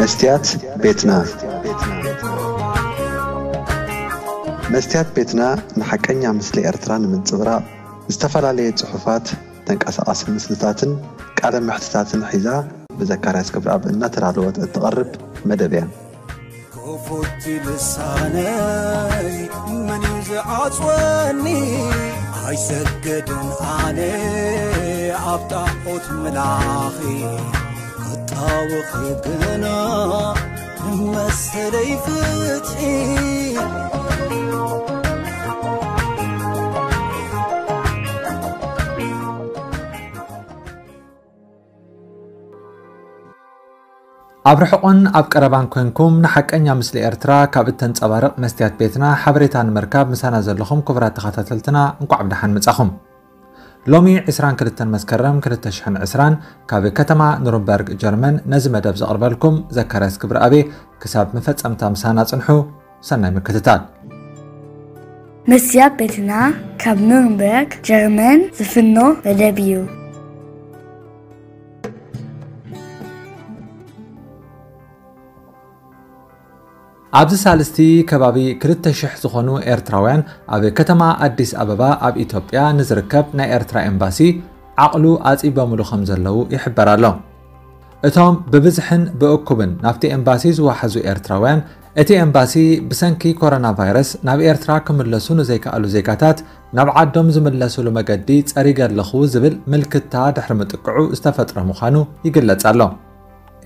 መስትያት ቤትና። መስትያት ቤትና ንሓቀኛ ምስሊ ኤርትራ ንምንጽብራቕ ዝተፈላለየ ጽሑፋት፣ ተንቀሳቓሲ ምስልታትን ቃለ መሕትታትን ሒዛ ብዘካርያስ ክብረኣብ እናተዳለወት እትቐርብ መደብ እያ። ክፉት ልሳነይ መን እዩ ዝዓጽወኒ? ኣይሰገድን ኣነ ኣብ ጣዖት ምላኺ፣ ክጣወኺ ግና ንመሰለይ ፍትሒ። ኣብ ርሑቕን ኣብ ቀረባን ኮንኩም ንሓቀኛ ምስሊ ኤርትራ ካብ እተንጸባርቕ መስትያት ቤትና ሓበሬታ ንምርካብ ምሳና ዘለኹም ክቡራት ተኸታተልትና እንቋዕ ብደሓን መጻኹም። ሎሚ ዕስራን ክልተን መስከረም ክልተ ሽሕን ዕስራን ካብ ከተማ ኑርንበርግ ጀርመን ነዚ መደብ ዘቕርበልኩም ዘካርያስ ክብረኣብ እየ። ክሳብ መፈጸምታ ምሳና ጽንሑ። ሰናይ ምክትታል። መስትያት ቤትና ካብ ኑርንበርግ ጀርመን ዝፍኖ መደብ እዩ። ኣብዚ ሳልስቲ ከባቢ ክልተ ሽሕ ዝኾኑ ኤርትራውያን ኣብ ከተማ ኣዲስ ኣበባ ኣብ ኢትዮጵያ ንዝርከብ ናይ ኤርትራ ኤምባሲ ዓቕሉ ኣጺቦምሉ ከም ዘለዉ ይሕበር ኣሎ። እቶም ብብዝሕን ብእኩብን ናብቲ ኤምባሲ ዝወሓዙ ኤርትራውያን፣ እቲ ኤምባሲ ብሰንኪ ኮሮና ቫይረስ ናብ ኤርትራ ክምለሱ ንዘይከኣሉ ዜጋታት ናብ ዓዶም ዝምለሱሉ መገዲ ጸሪገ ኣለኹ ዝብል ምልክታ ድሕሪ ምጥቅዑ ዝተፈጥረ ምዃኑ ይግለጽ ኣሎ።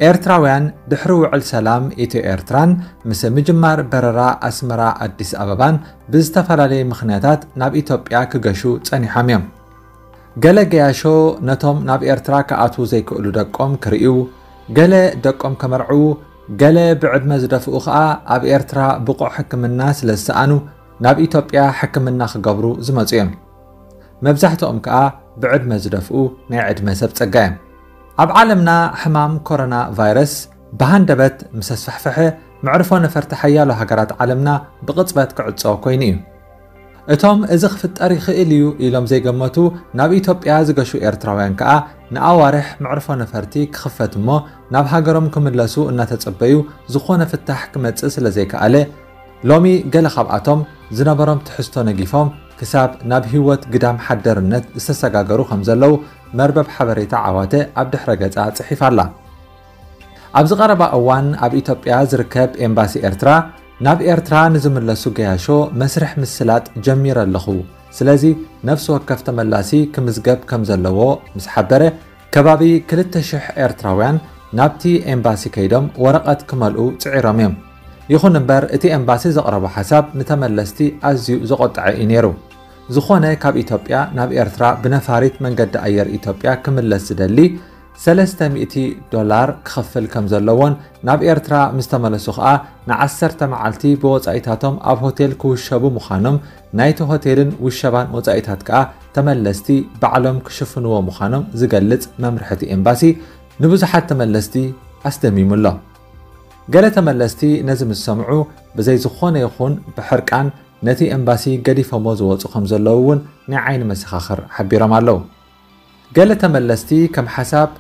ኤርትራውያን ድሕሪ ውዕል ሰላም ኢትዮ ኤርትራን ምስ ምጅማር በረራ ኣስመራ ኣዲስ ኣበባን ብዝተፈላለየ ምኽንያታት ናብ ኢትዮጵያ ክገሹ ጸኒሖም እዮም። ገለ ገያሾ ነቶም ናብ ኤርትራ ክኣትዉ ዘይክእሉ ደቆም ክርእዩ፣ ገለ ደቆም ከመርዕዉ፣ ገለ ብዕድመ ዝደፍኡ ከኣ ኣብ ኤርትራ ብቑዕ ሕክምና ስለ ዝሰኣኑ ናብ ኢትዮጵያ ሕክምና ክገብሩ ዝመጹ እዮም። መብዛሕትኦም ከኣ ብዕድመ ዝደፍኡ ናይ ዕድመ ሰብ ጸጋ እዮም። ኣብ ዓለምና ሕማም ኮሮና ቫይረስ ብሃንደበት ምስ ኣስፋሕፈሐ፣ መዕርፎ ነፈርቲ ሓያሎ ሃገራት ዓለምና ብቕጽበት ክዕጾ ኮይኑ እዩ። እቶም እዚ ክፍጠር ይኽእል እዩ ኢሎም ዘይገመቱ ናብ ኢትዮጵያ ዝገሹ ኤርትራውያን ከኣ ንኣዋርሕ መዕርፎ ነፈርቲ ክኽፈት እሞ ናብ ሃገሮም ክምለሱ እናተጸበዩ ዝኾነ ፍታሕ ክመጽእ ስለ ዘይከኣለ፣ ሎሚ ገለ ካብኣቶም ዝነበሮም ትሕዝቶ ነጊፎም ክሳብ ናብ ህይወት ግዳም ሓደርነት ዝተሰጋገሩ ከም ዘለዉ መርበብ ሓበሬታ ዓዋተ ኣብ ድሕረ ገጻ ጽሒፋ ኣላ። ኣብዚ ቀረባ እዋን ኣብ ኢትዮጵያ ዝርከብ ኤምባሲ ኤርትራ ናብ ኤርትራ ንዝምለሱ ገያሾ መስርሕ ምስላጥ ጀሚረ ኣለኹ፣ ስለዚ ነፍሲ ወከፍ ተመላሲ ክምዝገብ ከም ዘለዎ ምስ ሓበረ፣ ከባቢ ክልተ ሽሕ ኤርትራውያን ናብቲ ኤምባሲ ከይዶም ወረቐት ክመልኡ ጽዒሮም እዮም። ይኹን እምበር እቲ ኤምባሲ ዘቕረቦ ሓሳብ ንተመለስቲ ኣዝዩ ዘቖጠዐ እዩ ነይሩ። ዝኾነ ካብ ኢትዮጵያ ናብ ኤርትራ ብነፋሪት መንገዲ ኣየር ኢትዮጵያ ክምለስ ዝደሊ ሰለስተ ሚእቲ ዶላር ክኸፍል ከም ዘለዎን ናብ ኤርትራ ምስ ተመለሱ ኸኣ ንዓሰርተ መዓልቲ ብወጻኢታቶም ኣብ ሆቴል ክውሸቡ ምዃኖም፣ ናይቲ ሆቴልን ውሸባን ወጻኢታት ከኣ ተመለስቲ ባዕሎም ክሽፍንዎ ምዃኖም ዝገልጽ መምርሒ እቲ ኤምባሲ ንብዙሓት ተመለስቲ ኣስደሚሙ ኣሎ። ገለ ተመለስቲ ነዚ ምስ ሰምዑ ብዘይ ዝኾነ ይኹን ብሕርቃን ነቲ ኤምባሲ ገዲፎሞ ዝወጹ ከም ዘለዉ እውን ናይ ዓይኒ መሰኻኽር ሓቢሮም ኣለዉ። ገለ ተመለስቲ ከም ሓሳብ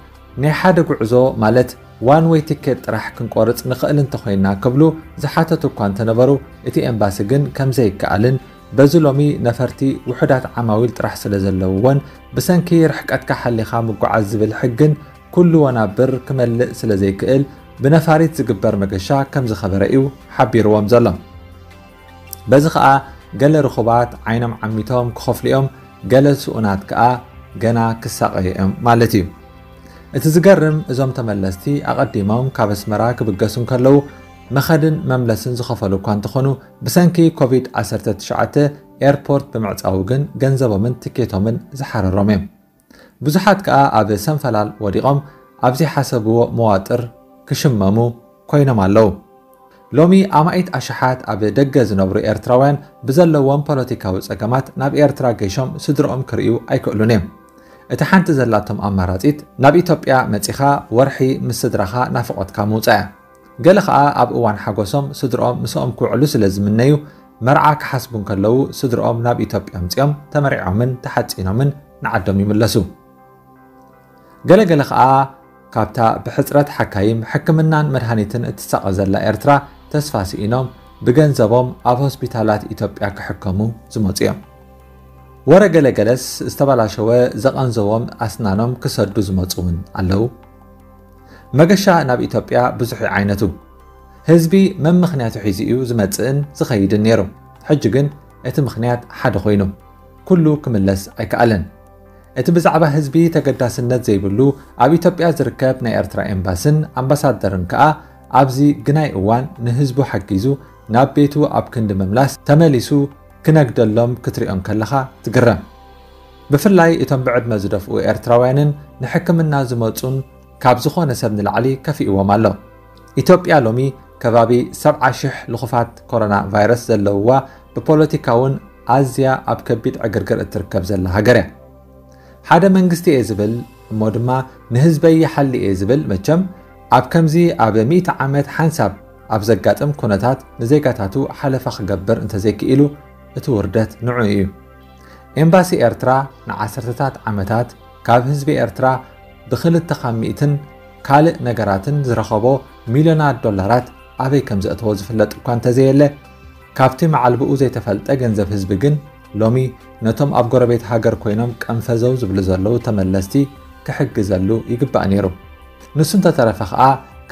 ናይ ሓደ ጉዕዞ ማለት ዋን ዌይ ቲኬት ጥራሕ ክንቆርጽ ንኽእል እንተኾይንና ክብሉ ዝሓተቱ እኳ እንተነበሩ፣ እቲ ኤምባሲ ግን ከም ዘይከኣልን በዚ ሎሚ ነፈርቲ ውሑዳት ዓማዊል ጥራሕ ስለ ዘለውዎን ብሰንኪ ርሕቀትካ ሓሊኻ ምጉዓዝ ዝብል ሕግን ኩሉ ወናብር ክመልእ ስለ ዘይክእል ብነፋሪት ዝግበር መገሻ ከም ዝኸበረ እዩ ሓቢርዎም ዘሎ። በዚ ኸኣ ገለ ርኹባት ዓይኖም ዓሚቶም ክኸፍሉ እዮም፣ ገለ ስኡናት ከኣ ገና ክሳቐዩ እዮም ማለት እዩ። እቲ ዝገርም እዞም ተመለስቲ ኣቐዲሞም ካብ ኣስመራ ክብገሱ እንከለዉ መኸድን መምለስን ዝኸፈሉ እኳ እንተኾኑ ብሰንኪ ኮቪድ ዓሰርተ ትሽዓተ ኤርፖርት ብምዕጻዉ ግን ገንዘቦምን ትኬቶምን ዝሓረሮም እዮም። ብዙሓት ከኣ ኣብ ሰንፈላል ወዲቖም ኣብ ዘይሓሰብዎ መዋጥር ክሽመሙ ኮይኖም ኣለዉ። ሎሚ ኣማኢት ኣሽሓት ኣብ ደገ ዝነብሩ ኤርትራውያን ብዘለዎም ፖለቲካዊ ጸገማት ናብ ኤርትራ ገይሾም ስድርኦም ክርእዩ ኣይክእሉን እዮም። እቲ ሓንቲ ዘላቶም ኣማራጺት ናብ ኢትዮጵያ መጺኻ ወርሒ ምስ ስድራኻ ናፍቖትካ ምውጻእ እያ። ገለ ኸኣ ኣብ እዋን ሓጎሶም ስድርኦም ምስኦም ክውዕሉ ስለ ዝምነዩ መርዓ ክሓስቡ እንከለዉ ስድርኦም ናብ ኢትዮጵያ ኣምጺኦም ተመሪዖምን ተሓጺኖምን ንዓዶም ይምለሱ። ገለገለ ኸኣ ካብታ ብሕጽረት ሓካይም፣ ሕክምናን መድሃኒትን እትሳቐ ዘላ ኤርትራ ተስፋ ስኢኖም፣ ብገንዘቦም ኣብ ሆስፒታላት ኢትዮጵያ ክሕከሙ ዝመጹ እዮም። ወረ ገለገለስ ዝተበላሸወ ዘቐንዘዎም ኣስናኖም ክሰዱ ዝመጹ እውን ኣለዉ። መገሻ ናብ ኢትዮጵያ ብዙሕ እዩ ዓይነቱ። ህዝቢ መምኽንያቱ ሒዙ እዩ ዝመጽእን ዝኸይድን ነይሩ። ሕጂ ግን እቲ ምኽንያት ሓደ ኮይኑ፣ ኩሉ ክምለስ ኣይከኣለን። እቲ ብዛዕባ ህዝቢ ተገዳስነት ዘይብሉ ኣብ ኢትዮጵያ ዝርከብ ናይ ኤርትራ ኤምባስን ኣምባሳደርን ከኣ ኣብዚ ግናይ እዋን ንህዝቡ ሓጊዙ ናብ ቤቱ ኣብ ክንዲ ምምላስ ተመሊሱ ክነግደሎም ክትሪኦ እንከለኻ ትግረም። ብፍላይ እቶም ብዕድመ ዝደፍኡ ኤርትራውያንን ንሕክምና ዝመጹን ካብ ዝኾነ ሰብ ንላዕሊ ከፊእዎም ኣሎ። ኢትዮጵያ ሎሚ ከባቢ ሰብዓ ሽሕ ልኹፋት ኮሮና ቫይረስ ዘለውዋ፣ ብፖለቲካውን ኣዝያ ኣብ ከቢድ ዕግርግር እትርከብ ዘላ ሃገር እያ። ሓደ መንግስቲ እየ ዝብል እሞ ድማ ንህዝበይ ይሓሊ እየ ዝብል መቸም ኣብ ከምዚ ኣብ ሚእቲ ዓመት ሓንሳብ ኣብ ዘጋጥም ኩነታት ንዜጋታቱ ሓለፋ ክገብር እንተዘይክኢሉ እቲ ውርደት ንዑ እዩ። ኤምባሲ ኤርትራ ንዓሰርተታት ዓመታት ካብ ህዝቢ ኤርትራ ብክልተ ካብ ሚእትን ካልእ ነገራትን ዝረኸቦ ሚልዮናት ዶላራት ኣበይ ከም ዘእተዎ ዝፍለጥ እኳ እንተዘየለ፣ ካብቲ መዓልብኡ ዘይተፈልጠ ገንዘብ ህዝቢ ግን ሎሚ ነቶም ኣብ ጎረቤት ሃገር ኮይኖም ቀንፈዘው ዝብሉ ዘለዉ ተመለስቲ ክሕግዘሉ ይግባእ ነይሩ። ንሱ እንተተረፈ ኸኣ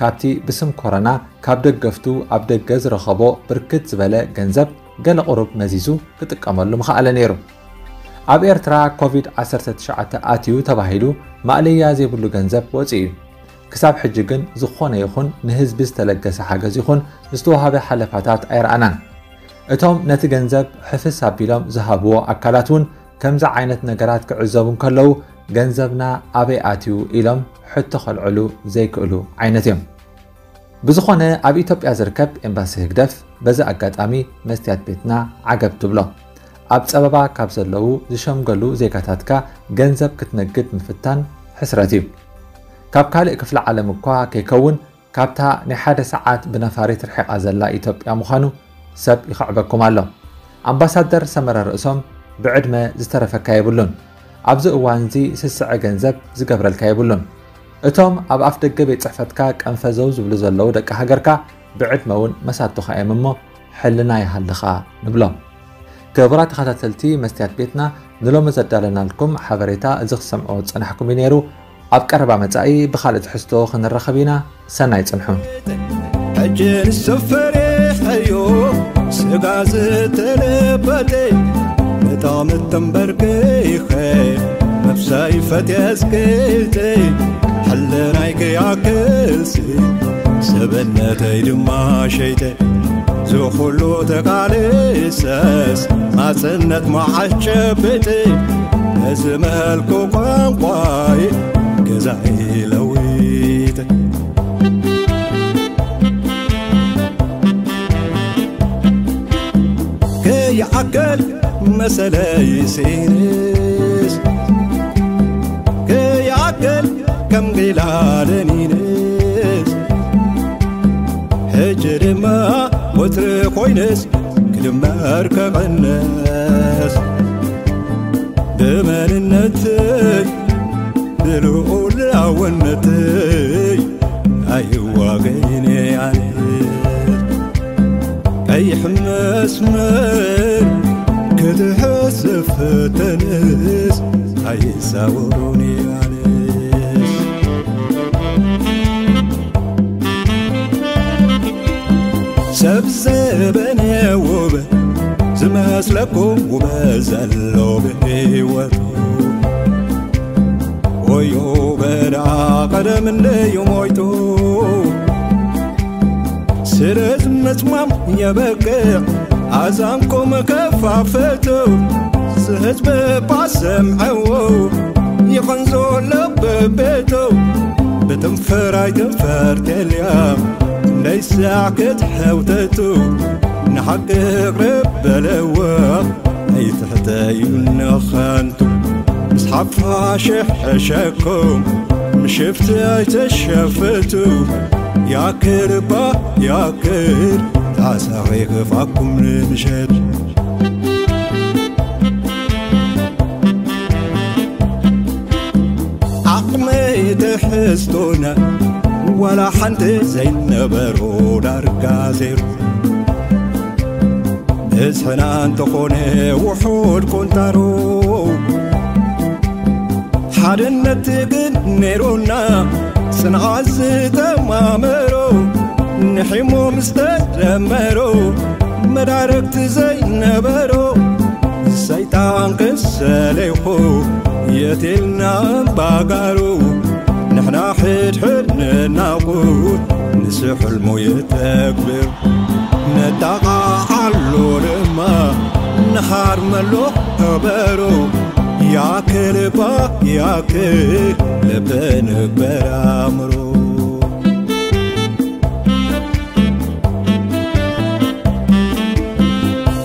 ካብቲ ብስም ኮረና ካብ ደገፍቱ ኣብ ደገ ዝረኸቦ ብርክት ዝበለ ገንዘብ ገለ ቁሩብ መዚዙ ክጥቀመሉ ምኸኣለ ነይሩ። ኣብ ኤርትራ ኮቪድ ዓሰርተ ትሽዓተ ኣትዩ ተባሂሉ ማእለያ ዘይብሉ ገንዘብ ወጺኡ እዩ። ክሳብ ሕጂ ግን ዝኾነ ይኹን ንህዝቢ ዝተለገሰ ሓገዝ ይኹን ዝተዋሃበ ሓለፋታት ኣይረኣናን። እቶም ነቲ ገንዘብ ሕፍስ ኣቢሎም ዝሃብዎ ኣካላት እውን ከምዚ ዓይነት ነገራት ክዕዘቡ እንከለዉ፣ ገንዘብና ኣበይ ኣትዩ ኢሎም ሕቶ ከልዕሉ ዘይክእሉ ዓይነት እዮም። ብዝኾነ ኣብ ኢትዮጵያ ዝርከብ ኤምባሲ ህግደፍ በዚ ኣጋጣሚ መስትያት ቤትና ዓገብ ትብሎ። ኣብ ጸበባ ካብ ዘለዉ ዝሸምገሉ ዜጋታትካ ገንዘብ ክትነግድ ምፍታን ሕስረት እዩ። ካብ ካልእ ክፍለ ዓለም እኳ ከይከውን ካብታ ናይ ሓደ ሰዓት ብነፋሪት ርሒቓ ዘላ ኢትዮጵያ ምዃኑ ሰብ ይኽዕበኩም ኣሎ። ኣምባሳደር ሰመረ ርእሶም ብዕድመ ዝተረፈካ የብሉን። ኣብዚ እዋንዚ ስስዐ ገንዘብ ዝገብረልካ የብሉን። እቶም ኣብ ኣፍ ደገ ቤት ጽሕፈትካ ቀንፈዘው ዝብሉ ዘለዉ ደቂ ሃገርካ ብዕድመ እውን መሳቶኻ እዮም እሞ ሕልና ይሃልኻ ንብሎም። ክቡራት ተኸታተልቲ መስትያት ቤትና፣ ንሎሚ ዘዳለናልኩም ሓበሬታ እዚ ክትሰምዕዎ ዝጸናሕኩም እዩ ነይሩ። ኣብ ቀረባ መጻኢ ብኻልእ ትሕዝቶ ክንራኸብ ኢና። ሰናይ ጽንሑ። ሕጂ ንሱ ፈሪሐዮ ስጋ ዝተለበጠ፣ ብጣዕሚ ተንበርኪኸ ነብሰይ ፈትየ ኣስቂጠ፣ ሕልናይ ከይኣክልሲ ሰብነተይ ድማ ሸይጠ። ዝኹሉ ተቃሊሰስ ናጽነት መዓስ ጨብጥ፣ ነዚ መልኩ ቋንቋይ ገዛኢ ለዊጠ። ከይዓቅል መሰለይ ስኢንስ፣ ከይዓቅል ከም ጊላ ደኒንስ፣ ሕጂ ድማ ወትሪ ኮይንስ ክድመር ክቕንስ፣ ብመንነተይ ብልዑላውነተይ ኣይዋገይን ኣነ። ቀይሕ መስመር ክትሕዝ ፈተንስ ኣይዛወሩን ኣነስ። ሰብ ዘበነ ውበ ዝመስለኩም ውበ ዘሎ ብህይወቱ፣ ወዮ በዳ ቀደም እንደዩ ሞይቱ። ስለዚ ምጽማም የበቅዕ ኣዛንኩም ከፋፈቱ፣ ዝህዝቢ ባሰምዐዎ ይኸንዞ ለበቤቱ። ብትንፈር ኣይትንፈር ተልያ እንደይሳዕ ክትሕውተቱ፣ ንሓቂ ቅርብ በለዎ ኣይትሕተዩ ንኸንቱ። ምስ ሓፋሽ ሕሸኩም ምሽፍቲ ኣይትሸፍቱ። ያክል እባ ያክል ጣሳኺ ክፋኩም ንምሸት ዓቕመይ ሕዝቶና ዋላ ሓንቲ ዘይነበሮ ዳርጋ ዜሮ። ብዝሕና እንተኾነ ውሑድ ቁንጣሮ፣ ሓድነት ግን ነይሮና ጽንዓት ዝተማመሮ። ንሒሞ ምስ ተደመሮ መዳረግቲ ዘይነበሮ፣ ሰይጣን ክሰለይኹ የትልና እምባጋሩ። ንሕና ሕድሕድ ንናቑ ንሱ ሕልሙ የተግብር። ነጣቓዓሉ ድማ ንሃርመሉ ከበሮ። ያክል ባ ያክል ልብ ንግበር ኣእምሮ።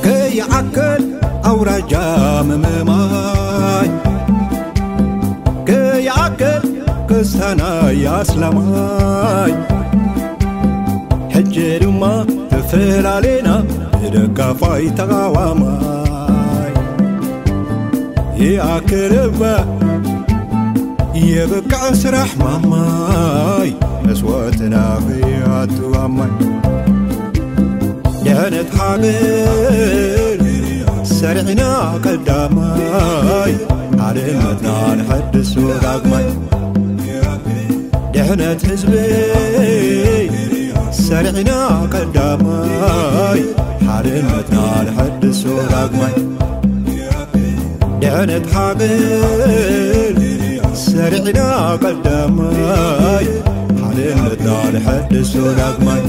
ከይዓክል ኣውራጃ ምምማይ፣ ከይዓክል ክስታናይ ኣስላማይ። ሕጂ ድማ ተፈላለና ብደጋፋይ ተቓዋማይ። ይኣክል እባ የብቅዕ ስራሕ ማማይ፣ መስዋእትና ከይኣቱ ኣማይ። ድሕነት ሃገር ሰሪዕና ቀዳማይ፣ ሓድነትና ንሐድሶ ዳግማይ። ድሕነት ህዝበይ ሰሪዕና ቀዳማይ፣ ሓድነትና ንሐድሶ ዳግማይ። ድሕነት ሃገር ሰሪዕና ቀዳማይ፣ ሓድነትና ንሐድሶ ዳግማይ።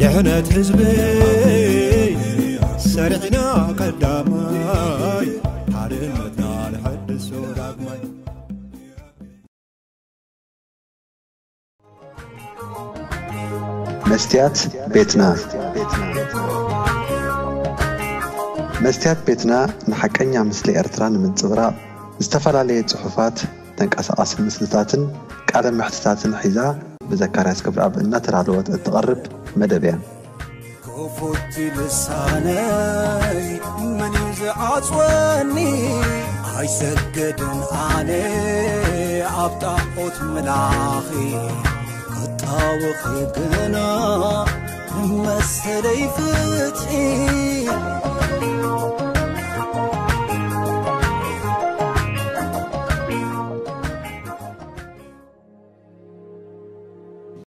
ድሕነት ህዝበይ ሰሪዕና ቀዳማይ፣ ሓድነትና ንሐድሶ ዳግማይ። መስትያት ቤትና። መስትያት ቤትና ንሓቀኛ ምስሊ ኤርትራ ንምንጽብራቕ ዝተፈላለየ ጽሑፋት፣ ተንቀሳቓሲ ምስልታትን ቃለ መሕትታትን ሒዛ ብዘካርያስ ገብረኣብ እናተዳለወት እትቐርብ መደብ እያ። ክፉት ልሳነይ መን እዩ ዝዓጽወኒ? ኣይሰግድን ኣነ ኣብ ጣዖት ምላኺ፣ ክጣወኺ ግና ንመሰለይ ፍትሒ።